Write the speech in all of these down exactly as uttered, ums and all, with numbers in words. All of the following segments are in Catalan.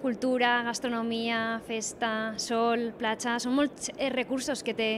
cultura, gastronomia, festa, sol, platja, són molts recursos que té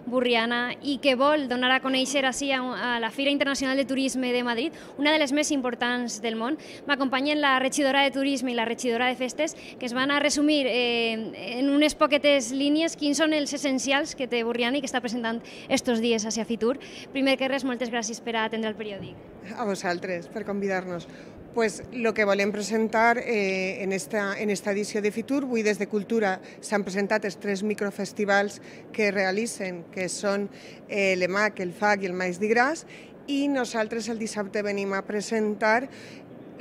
Borriana i que vol donar a conèixer així a la Fira Internacional de Turisme de Madrid, una de les més importants del món. M'acompanyen la regidora de Turisme i la regidora de Festes, que es van a resumir eh, en unes poquetes línies quins són els essencials que té Borriana i que està presentant estos dies hacia Fitur. Primer que res, moltes gràcies per atendre el periòdic. A vosaltres, per convidar-nos. Pues lo que volem presentar eh, en, esta, en esta edició de Fitur, avui des de Cultura s'han presentat els tres microfestivals que realitzen, que són eh, l'E M A C, el F A C i el Maïs d'Igràs, i nosaltres el dissabte venim a presentar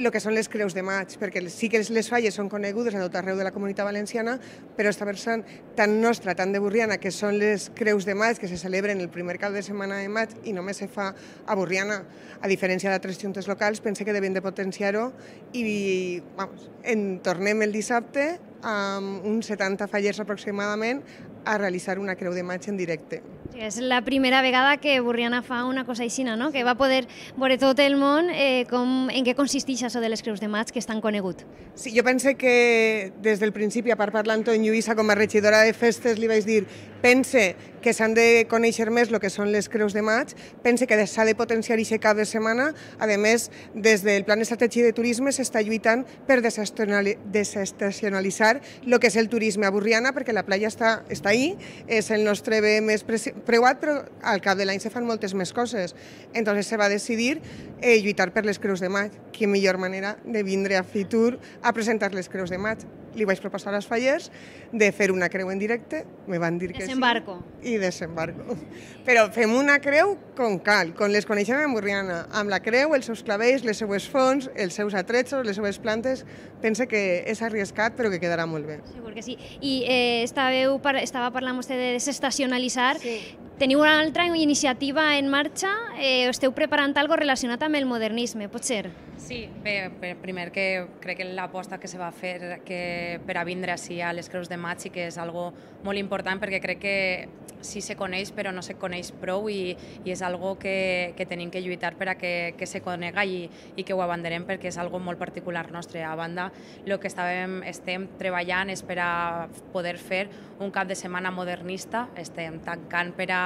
el que són les Creus de Maig, perquè sí que les falles són conegudes a tot arreu de la Comunitat Valenciana, però està versant tan nostra, tan de Borriana, que són les Creus de Maig, que se celebren el primer cap de setmana de maig i només se fa a Borriana, a diferència d'altres juntes locals, pense que devem de potenciar-ho i vamos, en tornem el dissabte amb uns setanta fallers aproximadament a realitzar una Creu de Maig en directe. És la primera vegada que Borriana fa una cosa així, no? Que va poder veure tot el món eh, com, en què consisteix això de les Creus de Maig, que és tan conegut. Sí, jo pense que des del principi, a part parlant amb Lluïsa com a regidora de festes, li vaig dir pense que s'han de conèixer més el que són les Creus de Maig, pense que s'ha de potenciar aquest cap de setmana. A més, des del Plan Estratègic de Turisme s'està lluitant per desestacionalitzar el que és el turisme a Borriana, perquè la platja està, està ahí, és el nostre bé més preuat, però al cap de l'any se fan moltes més coses. Entonces se va decidir eh, lluitar per les Creus de Maig. Quina millor manera de vindre a Fitur a presentar les Creus de Maig. Li vaig proposar als fallers de fer una creu en directe, me van dir que desembarco. Sí, i desembarco. Però fem una creu com cal, com les coneixem en Borriana, amb la creu, els seus clavells, les seues fonts, els seus atretxos, les seues plantes. Pense que és arriscat, però que quedarà molt bé. Segur que sí. I eh, estàveu, estava parlant vostè de desestacionalitzar. Sí. Teniu una altra iniciativa en marxa? Eh, esteu preparant alguna cosa relacionat amb el modernisme, pot ser? Sí, bé, primer que crec que l'aposta que se va fer que per a vindre així a les Creus de Maig sí que és algo molt important, perquè crec que sí se coneix però no se coneix prou i, i és algo que, que tenim que lluitar per a que, que se conega i, i que ho abanderem, perquè és algo molt particular nostre. A banda, el que estàvem, estem treballant és per a poder fer un cap de setmana modernista, estem tancant per a,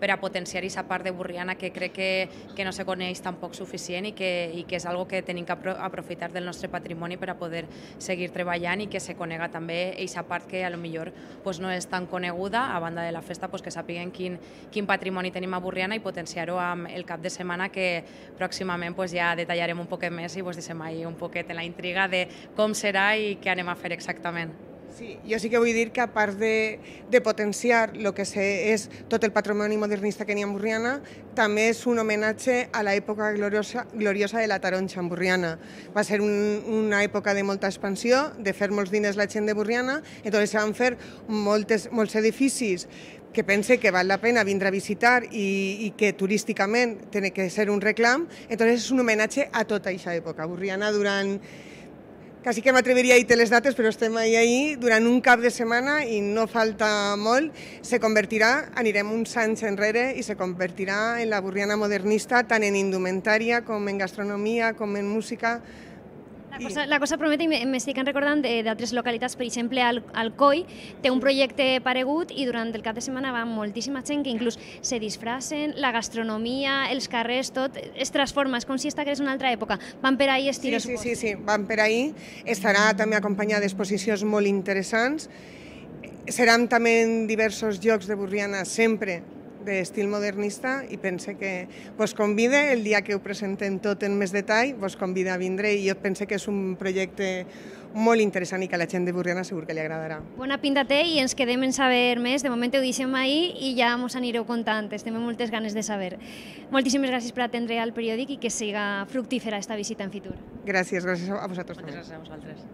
per a potenciar aquesta part de Borriana que crec que, que no se coneix tampoc suficient i que, i que és algo que tenim que aprofitar del nostre patrimoni per a poder seguir treballant i que se conega també aquesta part que a lo millor pues, no és tan coneguda, a banda de la festa, pues, que sàpiguen quin, quin patrimoni tenim a Borriana i potenciar-ho amb el cap de setmana, que pròximament pues, ja detallarem un poquet més i vos deixem ahí un poquet en la intriga de com serà i què anem a fer exactament. Sí, jo sí que vull dir que a part de, de potenciar el que és tot el patrimoni modernista que n'hi ha en Borriana, també és un homenatge a l'època gloriosa, gloriosa de la taronja en Borriana. Va ser un, una època de molta expansió, de fer molts diners la gent de Borriana, entonces se van fer moltes, molts edificis que pense que val la pena vindre a visitar i, i que turísticament té que ser un reclam, entonces és un homenatge a tota aquesta època. Borriana durant... Quasi que m'atreviria a dir les dates, però estem ahí, ahí, durant un cap de setmana i no falta molt, se convertirà, anirem uns anys enrere i se convertirà en la Borriana modernista, tant en indumentària com en gastronomia, com en música. La cosa, la cosa promete, i m'estic recordant d'altres localitats, per exemple, Al, Alcoi té un projecte paregut i durant el cap de setmana va moltíssima gent que inclús se disfracen, la gastronomia, els carrers, tot es transforma, és com si estigués en una altra època. Van per ahí estilos. Sí, sí, sí, sí, van per ahí. Estarà també acompanyada d'exposicions molt interessants. Seran també en diversos llocs de Borriana sempre d'estil modernista i pense que vos convida, el dia que ho presentem tot en més detall, vos convida a vindre i jo pense que és un projecte molt interessant i que a la gent de Borriana segur que li agradarà. Bona pinta té i ens quedem en saber més. De moment ho deixem ahir i ja mos anireu contant. Estem amb moltes ganes de saber. Moltíssimes gràcies per atendre al periòdic i que siga fructífera esta visita en Fitur. Gràcies, gràcies a vosaltres. Moltes gràcies a vosaltres.